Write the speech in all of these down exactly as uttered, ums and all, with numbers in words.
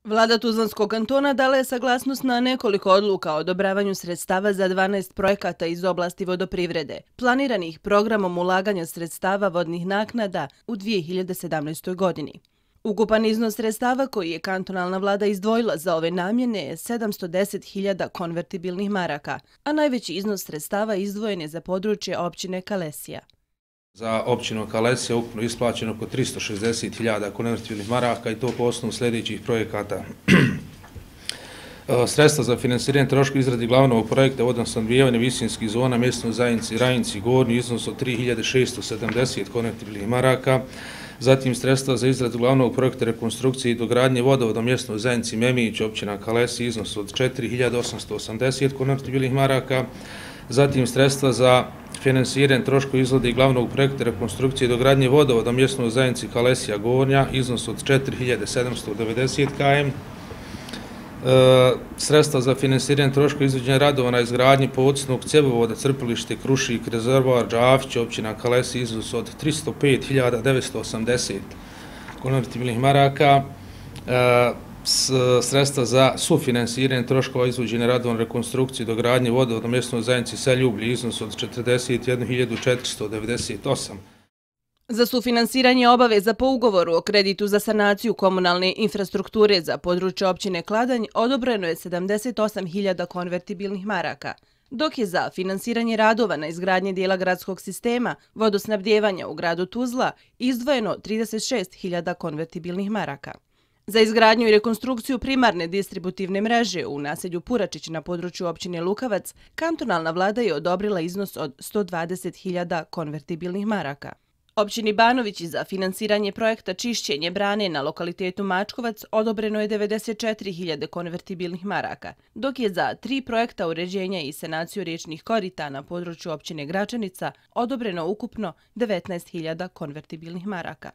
Vlada Tuzlanskog kantona dala je saglasnost na nekoliko odluka o odobravanju sredstava za dvanaest projekata iz oblasti vodoprivrede, planiranih programom ulaganja sredstava vodnih naknada u dvije hiljade sedamnaestoj. godini. Ukupan iznos sredstava koji je kantonalna vlada izdvojila za ove namjene je sedamsto deset hiljada konvertibilnih maraka, a najveći iznos sredstava izdvojen je za područje općine Kalesija. Za općinu Kalesija ukupno isplaćeno oko tristo šezdeset hiljada konvertibilnih maraka i to po osnovu sljedećih projekata. Sredstva za finansiranje troškova izradi glavnog projekta vodosnabdijevanja visinskih zona mjesnoj zajednici Rajinci Gornji iznos od tri hiljade šesto sedamdeset konvertibilnih maraka, zatim sredstva za izradu glavnog projekta rekonstrukcije i dogradnje vodovoda mjesnoj zajednici Memić, općina Kalesija iznos od četiri hiljade osamsto osamdeset konvertibilnih maraka, zatim sredstva za finansiranje troškova izrade glavnog projekta rekonstrukcije i dogradnje vodovoda mjesnoj zajednici Kalesija Gornja iznos od četiri hiljade sedamsto devedeset km, E, sredstva za finansiranje troškova izvođenja radova na izgradnji podsnog cjevovoda crpilište Krušik, rezervoar Đafić, općina Kalesija iznos od tristo pet hiljada devetsto osamdeset konvertibilnih maraka, e, s, sredstva za sufinansiranje troškova izvođenja radova na rekonstrukciji i dogradnje vodovoda mjesnoj zajednici Seljublje iznos od četrdeset jednu hiljadu četiristo devedeset osam. Za sufinansiranje obaveza po ugovoru o kreditu za sanaciju komunalne infrastrukture za područje općine Kladanj odobreno je sedamdeset osam hiljada konvertibilnih maraka, dok je za finansiranje radova na izgradnje dijela gradskog sistema vodosnabdijevanja u gradu Tuzla izdvojeno trideset šest hiljada konvertibilnih maraka. Za izgradnju i rekonstrukciju primarne distributivne mreže u naselju Puračić na području općine Lukavac, kantonalna vlada je odobrila iznos od sto dvadeset hiljada konvertibilnih maraka. Općini Banovići za finansiranje projekta čišćenje brane na lokalitetu Mačkovac odobreno je devedeset četiri hiljade konvertibilnih maraka, dok je za tri projekta uređenja i sanaciju riječnih korita na području općine Gračanica odobreno ukupno devetnaest hiljada konvertibilnih maraka.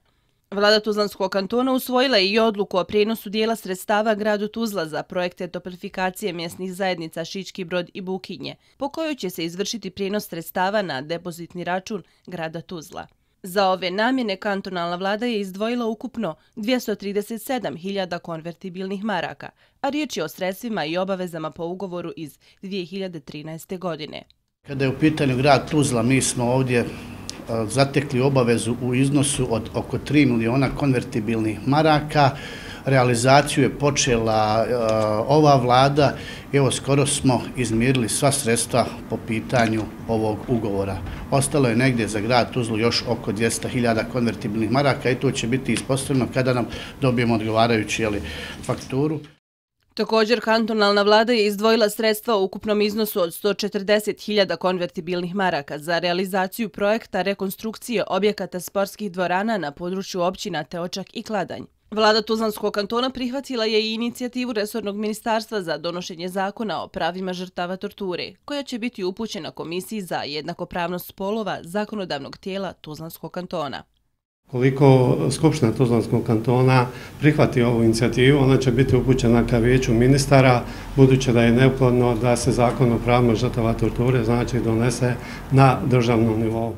Vlada Tuzlanskog kantona usvojila je i odluku o prijenosu dijela sredstava gradu Tuzla za projekte toplifikacije mjesnih zajednica Šički Brod i Bukinje, po kojoj će se izvršiti prijenos sredstava na depozitni račun grada Tuzla. Za ove namjene kantonalna vlada je izdvojila ukupno dvjesto trideset sedam hiljada konvertibilnih maraka, a riječ je o sredstvima i obavezama po ugovoru iz dvije hiljade trinaeste. godine. Kada je u pitanju grad Tuzla, mi smo ovdje zatekli obavezu u iznosu od oko tri miliona konvertibilnih maraka. Realizaciju je počela uh, ova vlada i evo skoro smo izmirili sva sredstva po pitanju ovog ugovora. Ostalo je negdje za grad Tuzlu još oko dvjesto hiljada konvertibilnih maraka i to će biti ispostavljeno kada nam dobijemo odgovarajući jeli, fakturu. Također, kantonalna vlada je izdvojila sredstva u ukupnom iznosu od sto četrdeset hiljada konvertibilnih maraka za realizaciju projekta rekonstrukcije objekata sportskih dvorana na području općina Teočak i Kladanj. Vlada Tuzlanskog kantona prihvatila je i inicijativu resornog ministarstva za donošenje zakona o pravima žrtava torture, koja će biti upućena Komisiji za jednakopravnost spolova zakonodavnog tijela Tuzlanskog kantona. Koliko Skupština Tuzlanskog kantona prihvati ovu inicijativu, ona će biti upućena ka vijeću ministara, budući da je neophodno da se zakon o pravima žrtava torture znači donese na državnom nivou.